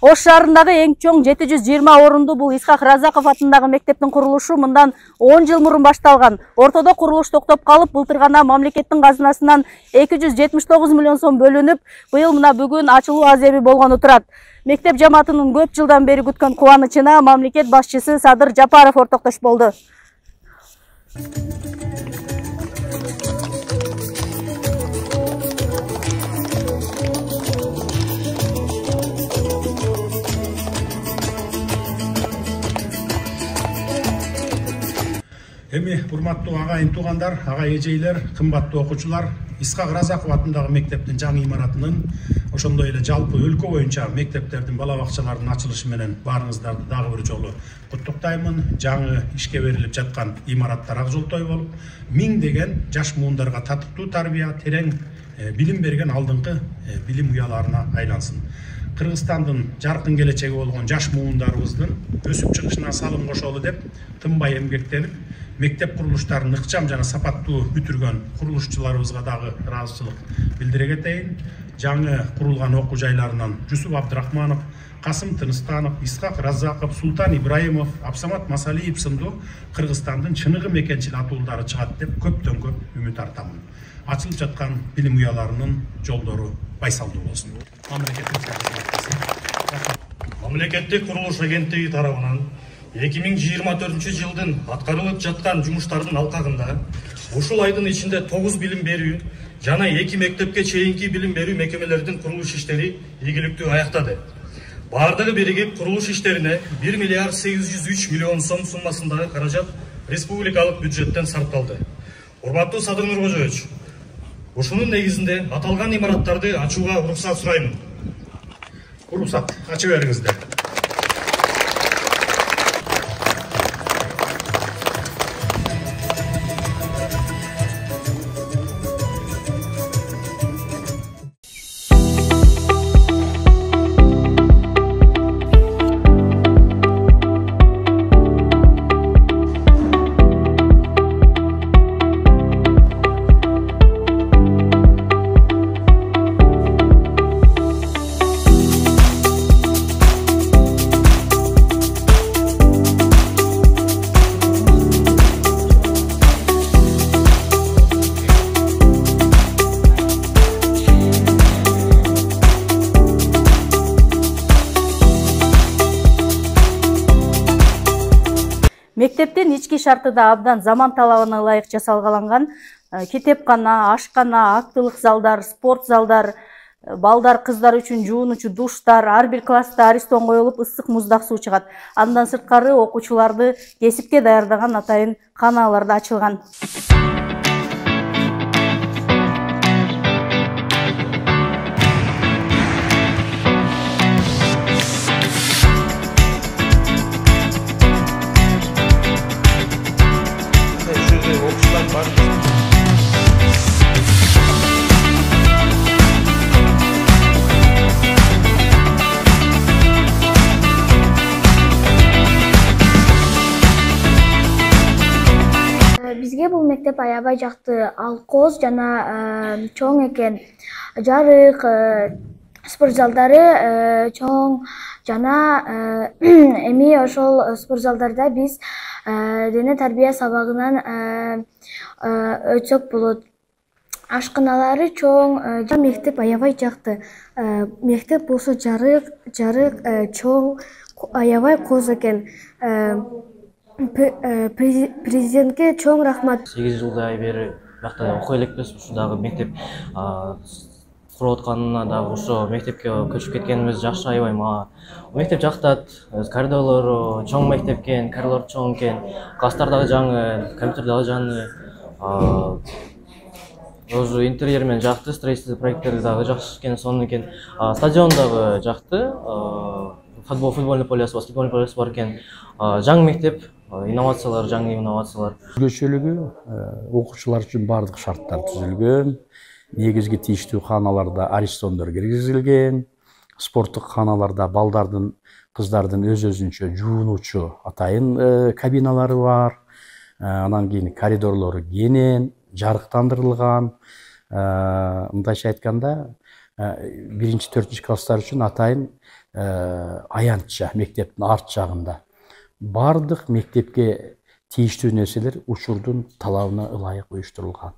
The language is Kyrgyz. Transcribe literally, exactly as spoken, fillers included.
Ош шаарындагы эң чоң жети жүз жыйырма орунду бул Исхак Разаков атындагы мектептин курулушу мындан он жыл мурун башталган. Ортодо курулуш токтоп калып, былтыр гана мамлекеттин казынасынан эки жүз жетимиш тогуз миллион сом бөлүнүп, быйыл мына бүгүн ачылуу азеби болгону турат. Мектеп жамаатынын көп жылдан бери күткөн кубанычына мамлекет башчысы Садыр Жапаров ортоктош болду. Эми урматтуу агайын туугандар, агай эжейлер, кымбаттуу окуучулар, Исхак Разаков атындагы мектептин жаңы имаратынын, ошондой эле жалпы өлкө боюнча мектептердин, бала бакчалардын ачылышы менен баарыңыздарды дагы бир жолу куттуктаймын. Жаңы ишке берилип жаткан имараттар ак жолтой болуп, миңдеген жаш муундарга татыктуу тарбия, терең билим берген алдыңкы билим уяларына айлансын. Кыргызстандын жаркын келечеги болгон жаш муундарыбыздын өсүп чыгышына салым кошолу деп тынбай эмгектенип, мектеп курулуштарын ыкчам жана сапаттуу бүтүргөн курулушчуларыбызга дагы ыраазычылык билдире кетейин. Жаңы курулган окуу жайларынан Жусуп Абдрахманов, Касым Тыныстанов, Исхак Разаков, Султан Ибраимов, Абсамат Масалиев сындуу Кыргызстандын чыныгы мекенчил атуулдары чыгат деп көптөн көп үмүт артамын. Ачылып жаткан билим уяларынын жолдору байсалдуу болсун. Мамлекеттик курулуш агенттиги тарабынан эки миң жыйырма төртүнчү жылдын аткарылып жаткан жумуштардын алкагында ушул айдын ичинде тогуз билим берүү жана эки мектепке чейинки билим берүү мекемелеринин курулуш иштери ийгиликтүү аяктады. Бардыгы биригип курулуш иштерине бир миллиард сегиз жүз үч миллион сом суммасындагы каражат республикалык бюджеттен сарпталды. Урматтуу Садыр Нуркожоевич, ушунун негизинде аталган имараттарды ачууга уруксат сураймын. Уруксат, ачып бериңиздер. Мектептин ички шарты да абдан заман талабына ылайык жасалгаланган. Китепкана, ашкана, актылык залдар, спорт залдар, балдар, кыздар үчүн жуунуучу душтар, ар бир класста аристон коюлуп, ысык муздак суу чыгат. Андан сырткары окуучуларды кесипке даярдаган атайын каналар да ачылган. Бизге бул мектеп аябай жакты. Алкоз жана чоң экен. Жарык, спорт залдары чоң жана эми ошол спорт залдарда биз дене тарбия сабагынан өтсөк болот. Ашканалары чоң, мектеп аябай жакты. Мектеп болсо жарык, жарык чоң, аябай коз экен. Президентке чоң рахмат. сегиз жылдай бери бакта окуй элекпиз. Ушундагы мектеп куруп атканына дагы ошо мектепке көчүп кеткенибиз жакшы, аябай мага. Мектеп жактат, коридорлору чоң мектеп экен, коридор чоң экен, класстар дагы жаңы, компьютер дагы жаңы. Уже интерьер менен жакты, строительство проекттери дагы жакшы экен, сонун экен. Стадион дагы жакты. Футбол, футбольный полеси, баскетбольный полеси бар экен. Жаңы мектеп, инновациялар, жаңы инновациялар. Өзгөчөлүгү окуучулар үчүн бардык шарттар түзүлгөн. Негизги тийиштүү кааналарда аристондор киргизилген. Спорттук кааналарда балдардын, кыздардын өз-өзүнчө жуунуучу атайын кабиналары бар. Анан кийин коридорлору кенен, жарыктандырылган. Мындайча айтканда, биринчи төртүнчү класстар үчүн атайын аянтча мектептин арт жагында бардык мектепке тийиштүү нерселер учурдун талабына ылайык уюштурулган.